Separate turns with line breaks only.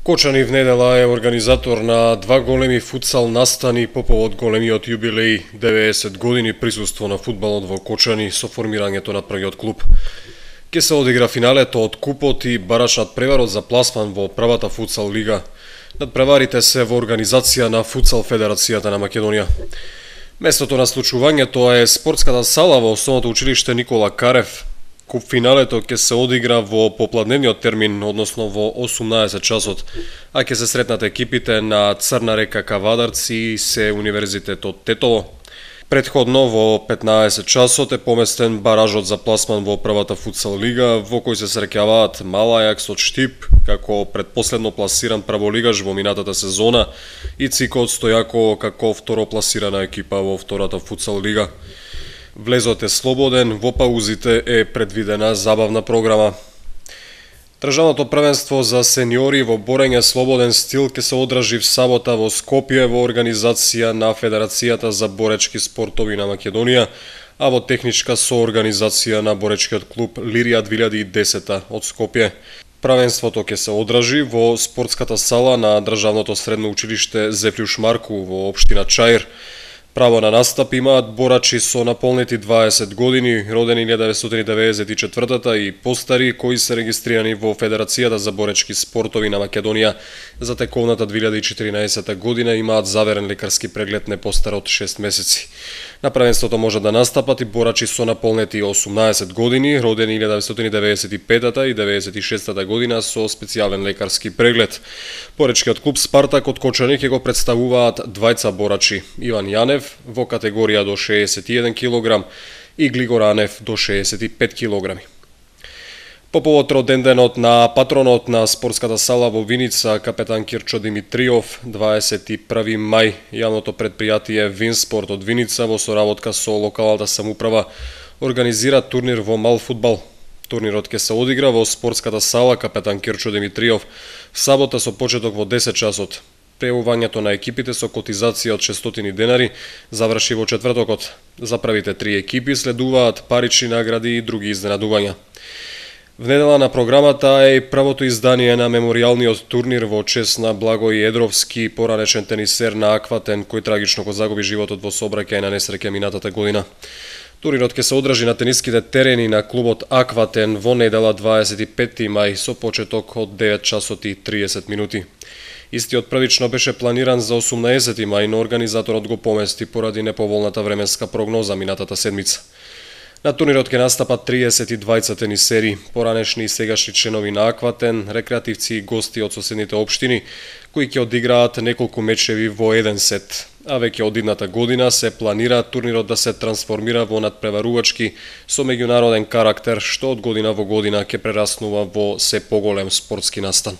Кочани в недела е организатор на два големи футсал настани по повод големиот јубилеј 90 години присуство на фудбалот во Кочани со формирањето на првиот клуб. Ке се одигра финалето од купот и барачнат преварот за пласман во првата футсал лига. Надпреварите се во организација на Футсал Федерацијата на Македонија. Местото на случувањето е спортската сала во Основното училиште Никола Карев. Куп финалето ќе се одигра во попладневниот термин, односно во 18 часот, а ќе се сретнат екипите на Црна река Кавадарци и се Универзитетот Тетово. Предходно во 15 часот е поместен баражот за пласман во првата футсал лига, во кој се среќаваат Мал Ајакс од Штип, како предпоследно пласиран прволигаш во минатата сезона, и ЦИК од Стојаково како второпласирана екипа во втората футсал лига. Влезот е слободен, во паузите е предвидена забавна програма. Државното првенство за сениори во борење слободен стил ќе се одржи в сабота во Скопје во организација на Федерацијата за боречки спортови на Македонија, а во техничка соорганизација на боречкиот клуб Лирија 2010 од Скопје. Првенството ќе се одржи во спортската сала на Државното средно училиште Зефлјуш Марку во општина Чаир. Право на настап имаат борачи со наполнети 20 години, родени 1994 и постари, кои се регистрирани во Федерацијата за боречки спортови на Македонија за тековната 2014 година, имаат заверен лекарски преглед не постар од 6 месеци. На првенството може да настапат и борачи со наполнети 18 години, родени 1995 и 96 година со специјален лекарски преглед. Боречкиот клуб Спартак од Кочани ќе го представуваат двајца борачи: Иван Јанев во категорија до 61 кг и Глигор Анев до 65 кг. По повод роденденот на патронот на спортската сала во Виница, капетан Кирчо Димитриов, 21 мај, јавното предпријатие Винспорт од Виница во соработка со локалната самоуправа организира турнир во мал фудбал. Турнирот ќе се одигра во спортската сала капетан Кирчо Димитриов в сабота со почеток во 10 часот. Прејавувањето на екипите со котизација од 600 денари заврши во четвртокот. За првите 3 екипи следуваат парични награди и други изненадувања. В недела на програмата е и првото издание на меморијалниот турнир во чест на Благој Едровски, поранешен тенисер на Акватен, кој трагично го загуби животот во сообраќајна несреќа минатата година. Турнирот ќе се одржи на тениските терени на клубот Акватен во недела 25 мај со почеток од 9 часот и 30 минути. Истиот првично беше планиран за 18 мај, но организаторот го помести поради неповолната временска прогноза минатата седмица. На турнирот ќе настапат 32 тенисери, поранешни и сегашни членови на Акватен, рекреативци и гости од соседните општини, кои ќе одиграат неколку мечеви во еден сет. А веќе од идната година се планира турнирот да се трансформира во надпреварувачки со меѓународен карактер, што од година во година ќе прераснува во се поголем спортски настан.